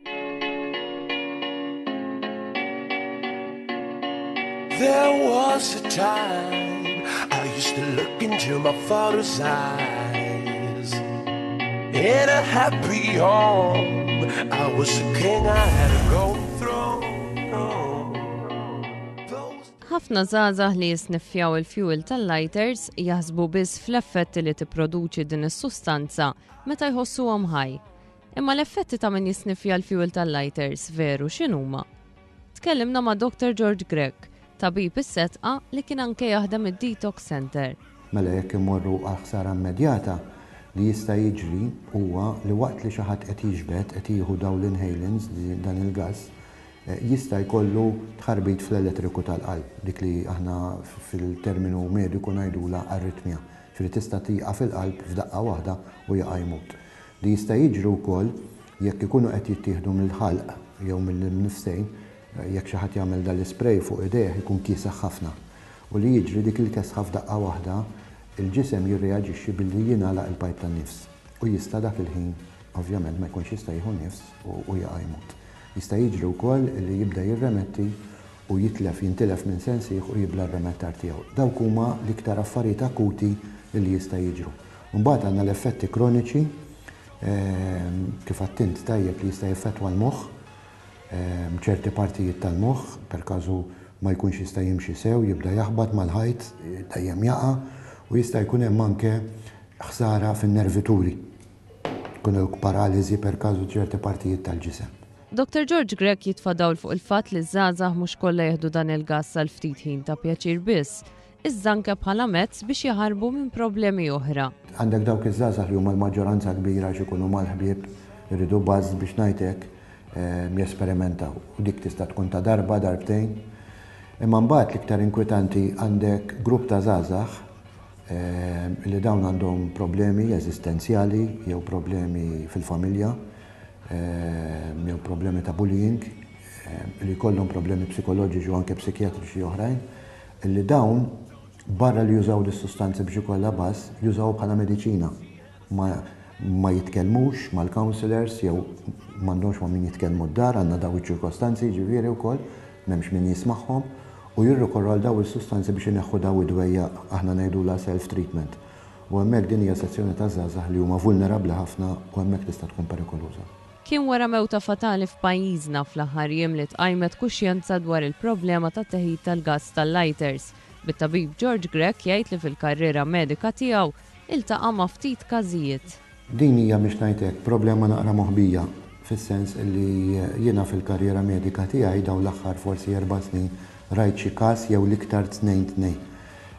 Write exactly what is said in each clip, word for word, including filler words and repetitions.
There was a time I used to look into my father's eyes. In a happy home, I was a king, I had a golden throne. Those Ħafna żgħażagħ li jisniffjaw il-fuel tal-lighters jaħsbu biss fl-effetti li tipproduċi din is-sustanza meta jħossuhom high. Imma l-effetti ta' min jisniffja l-fuel tal-lighters veru x'inhuma? Tkellimna ma' Doctor George Grech, tabib is-Sedqa li kien anke jaħdem id-Detox Center. Mela jekk imorru għal ħsara immedjata, li jista' jiġri huwa li waqt li xi ħadd qed jiġbed, qed jieħu dawn l-inhalants, dan il-gas, eh, jista' jkollu tħarbit fl-elettriku tal-qalb, dik li aħna fil-terminu mediku ngħidula arritmja. Ġifieri tista' tieqaf il-qalb f'daqqa waħda u jaqa' jmut. Li jista' jiġri wkoll jekk ikunu qed jittieħdu mill-ħalq jew mill-nifsejn, jekk xi ħadd jagħmel dal-ispray fuq idejh ikun kiesaħ ħafna. U li jiġri dik il-kesħa f'daqqa waħda, il-ġisem jirreaġixxi billi jingħalaq il-pajp tan-nifs. U jista' dak il-ħin ovvjament ma jkunx jista' jieħu nifs u jaqa' jmut. Jista' jiġri wkoll li jibda jirremetti u jitlef, jintilef minn sensih u jibla r-remettar tiegħu. Dawk huma l-iktar affarijiet akuti li jista' jiġru. Mbagħad għandna l-effetti kroniċi, ehm, kif għedt int tajjeb, li jista' jeffettwa l-moħħ, ehm, ċerti partijiet tal-moħħ, per każu ma jkunx jista' jimxi sew, jibda jaħbat mal-ħajt, dejjem jaqa', u jista' jkun hemm anke ħsara fin-nervituri. Jkun hemm paraliżi per każu ċerti partijiet tal-ġisem. Doctor George Grech jitfa' dawl fuq il-fatt li żgħażagħ mhux kollha jieħdu dan il-gas għal ftit ħin ta' pjaċir biss, iżda anke bħala mezz biex jaħarbu minn problemi oħra. Għandek dawk iż-żgħażagħ li huma l-maġġoranza kbira għax ikunu mal-ħbieb, iridu buzz biex ngħidlek, ehm, jesperimentaw. U dik tista' tkun ta' darba, darbtejn. Imma mbagħad l-iktar inkwetanti għandek grupp ta' żgħażagħ ehm, li dawn għandhom problemi eżistenzjali jew problemi fil-familja, ehm, jew problemi ta' bullying, ehm, li jkollhom problemi psikoloġiċi u anke psikjatriċi oħrajn, li dawn barra li jużaw dis-sustanzi biex ikollha buzz, jużaw bħala mediċina. Ma, ma jitkellmux mal-counselors jew m'għandhomx ma' min jitkellmu d-dar, għandna daw iċ-ċirkostanzi ġifieri wkoll, m'hemmx min jismagħhom, u jirrikorru għal daw is-sustanzi biex ineħħu daw id-dwejja, aħna ngħidula self-treatment. U hemmhekk din hija sezzjoni ta' żgħażagħ li huma vulnerabbli ħafna u hemmhekk tista' tkun perikoluża. Kien wara mewta fatali f'pajjiżna fl-aħħar jiem li tqajmet kuxjenza dwar il-problema ta' teħid tal-gas tal-lighters. Bit-tabib George Grech jgħid li fil-karriera medika tiegħu iltaqa' ma' ftit każijiet. Din hija, biex ngħidlek, problema naqra moħbija, fis-sens li jiena fil-karriera medika tiegħi dawn l-aħħar forsi erba' snin rajt xi każ jew l-iktar tnejn tnejn.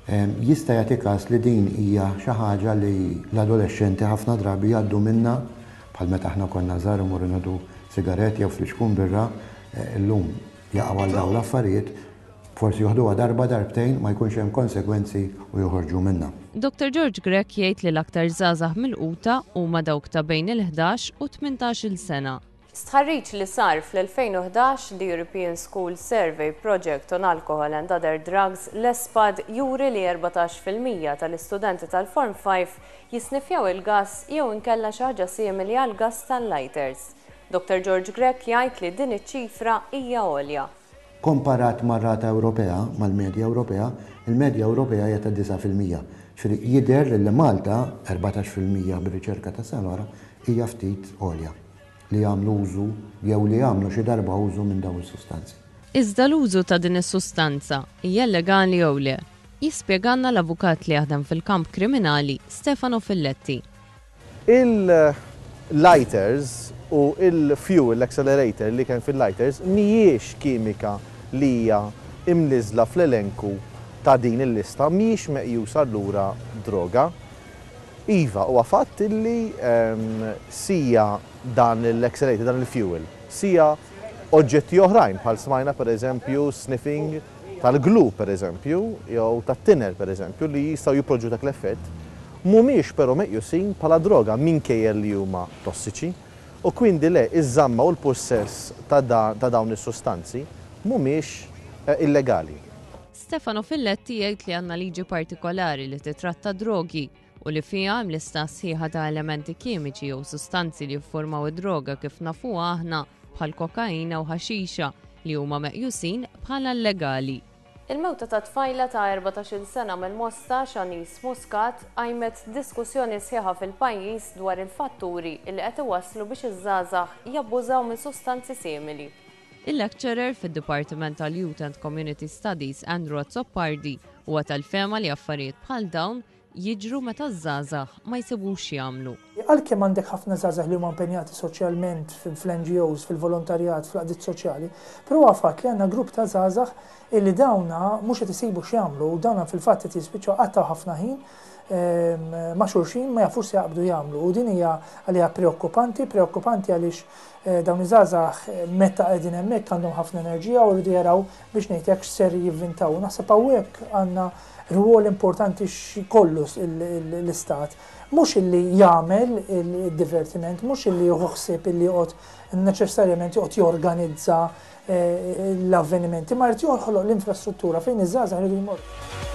Em, Jista' jagħti każ li din hija xi ħaġa li l-adolexxenti ħafna drabi jgħaddu minna, bħal meta aħna konna żgħar imorru nieħdu sigaret jew flixkun birra, eh, illum jaqgħu għal dawn l-affarijiet, forsi joħduha darba, darbtejn, ma jkunx hemm konsegwenzi u joħorġu minnha. Doctor George Grech jgħid li l-aktar żgħażagħ milquta huma dawk ta' bejn il-ħdax u tmintax-il sena. Stħarriġ li sar fl-elfejn u ħdax, the European School Survey Project on Alcohol and Other Drugs, l-ESPAD, juri li erbatax fil-mija tal-istudenti tal-Form five jisnifjaw il-gas jew inkella xi ħaġa simili għal gas tal-lighters. Doctor George Grech jgħid li din iċ-ċifra hija għolja. Komparat mar-rata Ewropea, mal-medja Ewropea, il-medja Ewropea hija ta' disgħa fil-mija. Ġifieri jidher li Malta erbatax fil-mija bir-riċerka ta' sena wara hija ftit għolja li jagħmlu użu jew li jagħmlu xi darba użu minn dawn is-sustanzi. Iżda l-użu ta' din is-sustanza hija legali jew le? Jispjegalna l-avukat li jaħdem fil-kamp kriminali, Stefano Filletti. Il-lighters u il-fuel accelerator li kien fil-lighters mhijiex kimika li hija imniżla fl-elenku ta' din il-lista, mhijiex meqjusa allura droga. Iva, huwa fatt illi ehm, sija dan l-accelerator, dan il-fuel, sija oġġetti oħrajn, bħal smajna per eżempju sniffing tal-glue per eżempju, jew tat-thinner per eżempju, li jistgħu jipproduċu dak l-effett, mhumiex però meqjusin bħala droga minkejja li huma tossiċi, u kwindi le, iż-żamma u l-possess ta' da, ta' dawn is-sustanzi mhumiex eh, illegali. Stefano Filletti jgħid li għandna liġi partikolari li titratta drogi u li fiha hemm lista sħiħa ta' elementi kimiċi jew sustanzi li jiffurmaw id-droga kif nafuha aħna. bħal kokaina u ħaxixa li huma meqjusin bħala illegali. Il-mewta ta' tfajla ta' erbatax-il sena mill-Mosta, Shanice Muscat, qajmet diskussjoni sħiħa fil-pajjiż dwar il-fatturi li qed iwasslu biex iż-żgħażagħ jabbużaw minn sustanzi simili. Il-lecturer fid-Dipartiment tal-Youth and Community Studies Andrew Azzopardi huwa tal-fehma li affarijiet bħal dawn jiġru meta ż-żgħażagħ ma jsibux jagħmlu. Għalkemm għandek ħafna żgħażagħ li huma impenjati soċjalment fl-N G Os, fil-volontarjat, fl-għaqdiet soċjali, però huwa fatt li għandna grupp ta' żgħażagħ illi dawna mhux qed isibu x'jagħmlu u dawna fil-fatt qed jispiċċaw qattaw ħafna ħin, ehm, ma' xulxin ma jafux se jaqbdu jagħmlu. U din hija għaliha preokkupanti, preokkupanti għaliex, eh, dawn iż-żgħażagħ, eh, meta qegħdin hemmhekk għandhom ħafna enerġija u rridu jaraw biex ngħid hekk x'ser jivvintaw. Naħseb hawnhekk għandna rwol importanti x'kollu l-istat. Mhux illi jagħmel il-divertiment, mhux illi jieħu ħsieb illi joqgħod neċessarjament joqgħod jorganizza, eh, l-avvenimenti, ma jrid joħloq l-infrastruttura fejn iż-żgħażagħ jridu jmorru.